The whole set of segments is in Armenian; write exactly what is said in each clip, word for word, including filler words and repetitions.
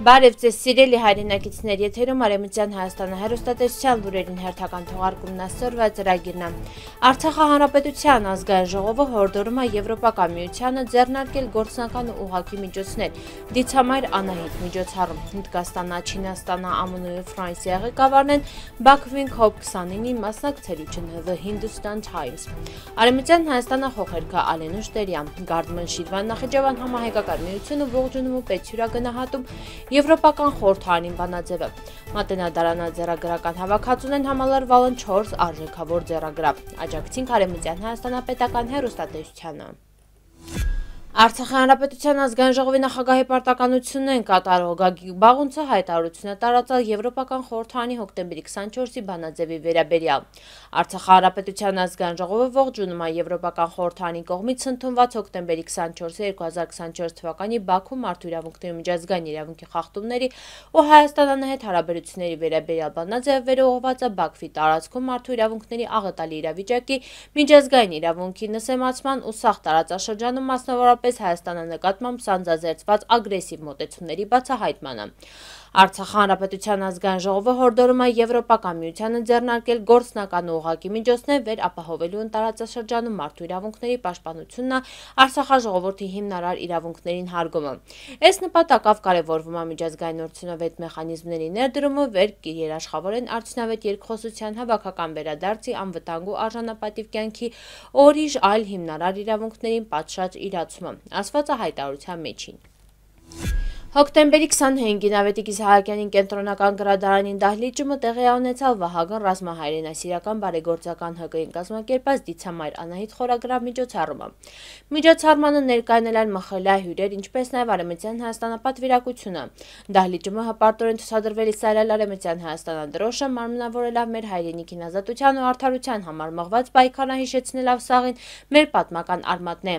Բարև ձեզ սիրելի հայրենակիցներ, եթերում Արևմտյան Հայաստանը հեռուստատեսության լուրերին հերթական թողարկումն այսօրվա ծրագիրն է։ Արցախի հանրապետության ազգային ժողովը հորդորում է Եվրոպական միությանը ձեռնարկել գործնական ու ուղղակի միջոցներ դիցամայր անահիտ միջոցառում։ Հնդկաստանը, Չինաստանը, ԱՄՆ ու Ֆրանսիա ղեկավարն են Բաքվին քոփ քսանինի մասնակցելություն The Hindustan Times։ Արևմտյան Հայաստանը խոխերքը Ալենուշ Տերյան, Գարդման Շիրվան Նախիջևան համահայկական միությունը ողջունում ու պետք գնահատում Եվրոպական խորհրդարանին բանաձևը։ Մատենադարանաձեռագրական հավաքածուն են համալրվալն չորս արժեքավոր ձեռագրավ։ Աջակցին Արևմտյան Հայաստանապետական հեռուստատեսությանը։ Արցախի հանրապետության ազգային ժողովի նախագահի պարտականությունն են կատարող Գագիկ Բաղունցը հայտարարություն է տարածել Եվրոպական խորհրդարանի հոկտեմբերի քսանչորսի բանաձևի վերաբերյալ։ Արցախի հանրապետության ազգային ժողովը ողջունում է Եվրոպական խորհրդարանի կողմից ընդունված հոկտեմբերի քսանչորսի երկու հազար քսանչորս թվականի Բաքու մարդու իրավունքների միջազգային իրավունքի խախտումների ու Հայաստանի հետ հարաբերությունների վերաբերյալ բանաձևը վերողված է Բաքվի տարածքում մարդու իրավունքների աղետալի իրավիճակի, միջազգային իրավունքի նսեմացման ու սաղ տարածաշրջանում մասնավորապես Հայաստանի նկատմամբ սանձազերծված ագրեսիվ մոտեցումների բացահայտմանը։ Արցախի հանրապետության ազգային ժողովը հորդորում է Եվրոպական միությանը ձեռնարկել գործնական ու ուղղակի միջոցներ վերապահովելու տարածաշրջանում մարդու իրավունքների պաշտպանությունն Արցախաժողովրդի հիմնարար իրավունքներին հարգումը։ Այս նպատակով կարևորվում է միջազգային արդյունավետ մեխանիզմների ներդրումը վերերաշխավորեն արդյունավետ երկխոսության հավաքական վերադարձի անվտանգ ու արժանապատիվ կյանքի օրիշ այլ հիմնարար իրավունքներին պատշաճ իրացումը, ասված է հայտարարության մեջին։ Հոկտեմբերի քսանհինգին Ավետիք Իսահակյանին կենտրոնական գրադարանին դահլիճումը տեղի ունեցավ Վահագն ռազմահայրենասիրական բարեգործական ՀԿ-ին կազմակերպած դիցամայր անահիտ խորագրավ միջոցառումը։ Միջոցառմանը ներկայանել են ՄԽԼ հյուրեր, ինչպես նաև Արևմտյան Հայաստանապատվիրակությունը։ Դահլիճումը հպարտորեն ցուցադրվել Իսրայել Արևմտյան Հայաստանադրոշը մարմնավորելով մեր հայրենիքին ազատության ու արդարության համար մղված պայքարը հիշեցնելով սաղին մեր պատմական արմատն է։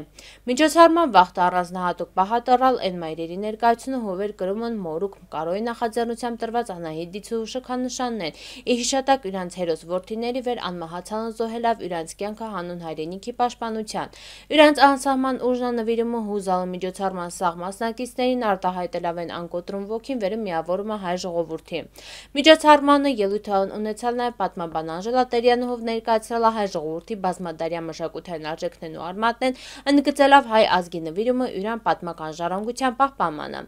Միջոցառման վաղ առանձնահատուկ պահատարալ են մայրերի ներկայությունը հովեր կրումն մորուք կարոյի նախաձեռնությամբ տրված անահիտ դիցու շքանշանն են, ի հիշատակ իրանց հերոս որդիների վեր անմահացան զոհելով իրանց կյանքը հանուն հայրենիքի պաշտպանության։ Իրանց անսահման ուժնանվիրումը հուզալը միջոցառման սաղ մասնակիցներին արտահայտելով են անկոտրում ոգին վերը միավորում է հայ ժողովրդի։ Միջոցառմանը ելույթ ունեցալ նաև պատմաբան Անժելա Տերյանը, ով ներկայացրել է հայ ժողովրդի բազմադարյան մշակութային արժեքներն ու արմատներն, ընդգծելով հայ ազգի նվիրումը իրան պատմական ժառանգության պահպանմանը։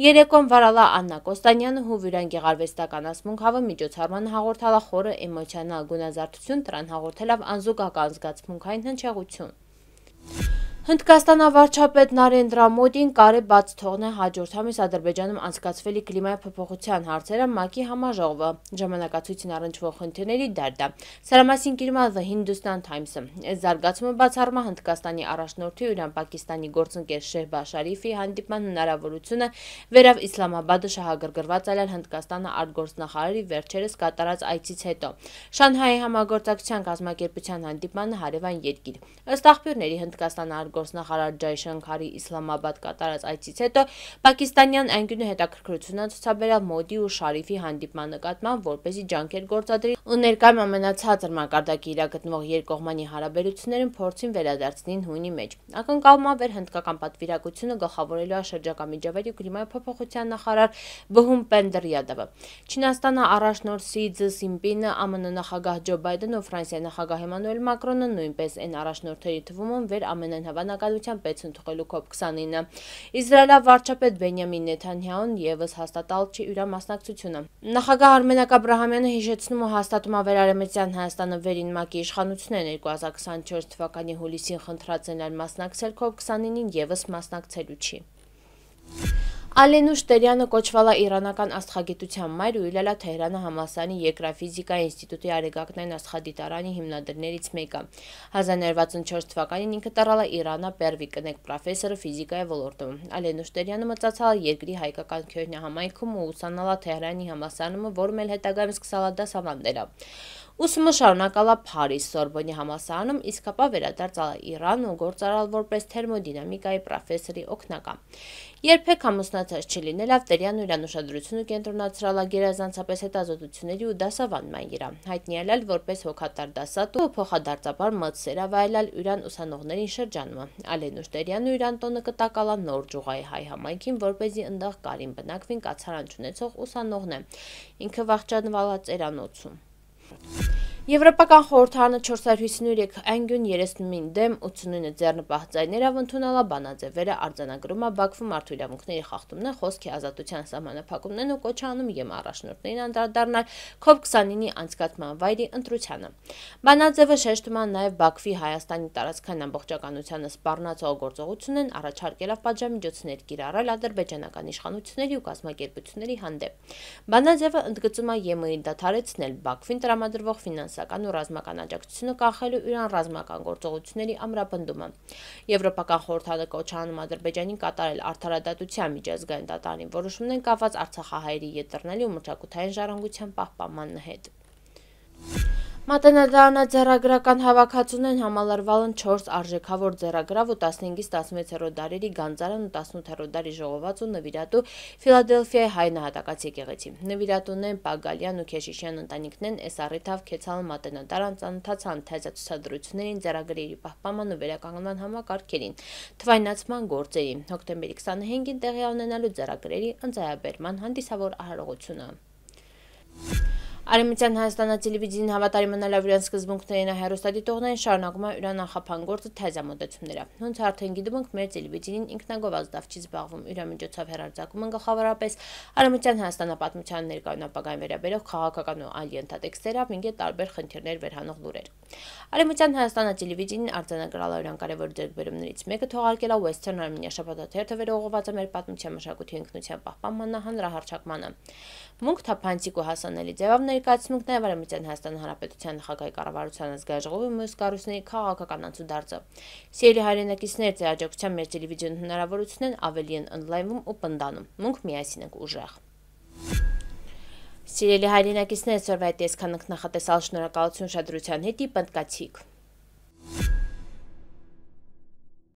Երեկոն վարալա Աննա Կոստանյանը հուվիրան գեղարվեստական ասմունքավը միջոցառմանը հաղորդալա խորը էմոցիոնալ գունազարդություն, տրան հաղորդելով անզուգական զգացմունքային հնչեղություն։ Հնդկաստանի վարչապետ Նարենդրա Մոդին կարե բաց թողնել հաջորդ ամիս Ադրբեջանում անցկացվելի կլիմայի փոփոխության հարցերը ՄԱԿ-ի համաժողովը ժամանակացույցին առնչվող խնդիրների դերդը։ Սրա մասին գրում է The Hindustan Times-ը։ Այս զարգացումը բացառում է Հնդկաստանի առաջնորդի ու Իրան Պակիստանի գործընկեր Շեհբազ Շարիֆի հանդիպման հնարավորությունը վերավ Իսլամաբադը շահագրգռված այլել Հնդկաստանը արտգործնախարարի վերջերս կատարած այցից հետո։ Շանհայի համագործակցության կազմակերպության հանդիպմանը հարևան երկիր։ Ըստ աղբյուրների Հնդկաստանը Գործնախարար Ջայշանքարի Իսլամաբադ կատարած այցից հետո պակիստանյան անկյունը հետաքրքրություն է ցուցաբերել Մոդի ու Շարիֆի հանդիպման նկատմամբ, որպեսզի ջանքեր գործադրի ու ներկայում ամենացածր մակարդակի իրագտնվող երկկողմանի հարաբերություններին փորձին վերադարձնին հունի մեջ։ Ակնկալում է վեր հնդկական պատվիրակությունը գլխավորելու է շրջակա միջավայրի ու կլիմայի փոփոխության նախարար Բհում Պենդրյադովը։ Չինաստանը առաջնորդ Սի Ցզինպինը, ԱՄՆ նախագահ Ջո Բայդենը ու Ֆրանսիայի նախագահ Էմանուել Մակրոնը նույնպես են առաջնորդների թվում են վեր ամենայն հավանականությամբ պետք ընդուղելու քոփ քսանինը։ Իսրայելի վարչապետ Բենյամին Նեթանյահուն ևս հաստատալ չի իր մասնակցությունը։ Նախագահ Արմենակ Աբրահամյանը հիշեցնում ու հաստատում է վեր Արևմտյան Հայաստանը վերին ՄԱԿ-ի իշխանությունն երկու հազար քսանչորս թվականի հուլիսին խնդրած են այլ մասնակցել քոփ քսանինին ևս մասնակցելու չի։ Ալենուշ Տերյանը կոչվել է իրանական աստղագիտության մայր ու ելել է Թեհրանի համալսարանի Երկրաֆիզիկայի ինստիտուտի արեգակնային աստղադիտարանի հիմնադիրներից մեկը։ հազար նորը վաթսունչորս թվականին ինքը տարալ է Իրանը Պերվի կնեք պրոֆեսորը ֆիզիկայի ոլորտում։ Ալենուշ Տերյանը մտածել է երկրի հայկական քյոհնյա համայնքում ու ուսանալ է Թեհրանի համալսարանում, որում էլ հետագայում սկսել է դասավանդել։ Ուսումը շարունակալա Փարիզ Սորբոնի համալսարանում, իսկ ապա վերադարձալ Իրան ու գործարալ որպես թերմոդինամիկայի պրոֆեսորի օգնական։ Երբեք ամուսնացած չլինել Ավտերյանն իրան ուշադրությունը կենտրոնացրել գերազանցապես հետազոտությունների ու դասավանդման վրա, հայտնիացել որպես հոգատար դասատու ու փոխադարձաբար մտցեր ավայելել իրան ուսանողներին շրջանում։ Ալենուշ Տերյանն իրան տոնը կտակալա նոր ջուղայի հայ համայնքին, որպեսզի ընդեղ կարին բնակվին կացարան չունեցող ուսանողներ, ինքը վախճանվալած էրանոցում։ Եվրոպական խորհրդարանը չորսսот հիսունութ անգյուն երեսնումին դեմ ութսունինը ձեռնպահ ձայներով ընդունելա բանաձևերը արձանագրում է Բաքվում մարդու իրավունքների խախտումներ, խոսքի ազատության սահմանափակումներն ու կոչ անում ԵՄ առաջնորդներին անդրադառնալ քոբ քսանինի անցկացման վայրի ընտրությանը։ Բանաձևը շեշտում է նաև Բաքվի Հայաստանի տարածքային ամբողջականությանը սպառնացող գործողությունն առաջարկելով պատժամիջոցներ կիրառել ադրբեջանական իշխանությունների ու կազմակերպությունների հանդեպ։ Բանաձևը ընդգծում է ԵՄ-ի դադարեցնել Բաքվին տրամադրվող ֆինանսական ու ռազմական աջակցությունը կանխելու իրան ռազմական գործողությունների ամրապնդումը։ Եվրոպական խորհրդարանը կոչ է անում Ադրբեջանին կատարել արդարադատության միջազգային դատարանի որոշումներն կապված արցախահայերի ետռների ու մշակութային ժառանգության պահպանման հետ։ Մատենադարանը ձեռագրական հավաքածուներն համալրվալն չորս արժեքավոր ձեռագրավ ու տասնհինգից տասնվեցերորդ դարերի գանձարան ու տասնութերորդ դարի ժողոված ու նվիրատու Ֆիլադելֆիայի հայ նահատակաց եկեղեցի։ Նվիրատուներն Պագալյան ու Քեշիշյան ընտանիքներն այս առիթով Քեցալ մատենադարան ծանոթացան թեզացուցադրություններին, ձեռագրերի պահպանման ու վերականգնման համակարգերին, թվայնացման գործերին, հոկտեմբերի քսանհինգին տեղի ունենալու ձեռագրերի ընծայաբերման հանդիսավոր արարողությունը։ Արևմտյան Հայաստանը տելևիզիոն հավատարիմ մնալով իրենց սկզբունքներին հեռուստադիտողներին շարունակում է իրան նախապան գործը թեզամոտեցումները։ Ոնց արդեն գիտում ենք, մեր տելևիզիոնին ինքնագովազդ չի զբաղվում, իր միջոցով հեռարձակում են գլխավորապես Արևմտյան Հայաստանը պատմության ներկայուն ապագային վերաբերող քաղաքական ու այլ ենթատեքստերով, ինքետ տարբեր խնդիրներ վերհանող լուրեր։ Արևմտյան Հայաստանը տելևիզիոնին արձանագրել է իրան կարևոր ձեռքբերումներից մեկը թողարկել է Western Armenia շաբաթաթերթը վերողված է մեր պատմության մշակույթի ինքնության պահպանման հանրահռչակմանը։ Մունք թափանցիկ ու հասանելի ձևով ներկայացնում նաև Արևմտյան Հայաստանի Հանրապետության նախագահի կառավարության ազգային ժողովի մյուս կառույցների քաղաքական անցուդարձը։ Սիրելի հայրենակիցներ, ձեր աջակցության մեր տելևիզիոն հնարավորություններն ավելի են ընդլայնվում ու պնդանում։ Մունք միասին ենք ուժեղ։ Սիրելի հայրենակիցներ, սորվայ տեսքանք նախատեսալ շնորհակալություն շադրության հետի պնդկացիք։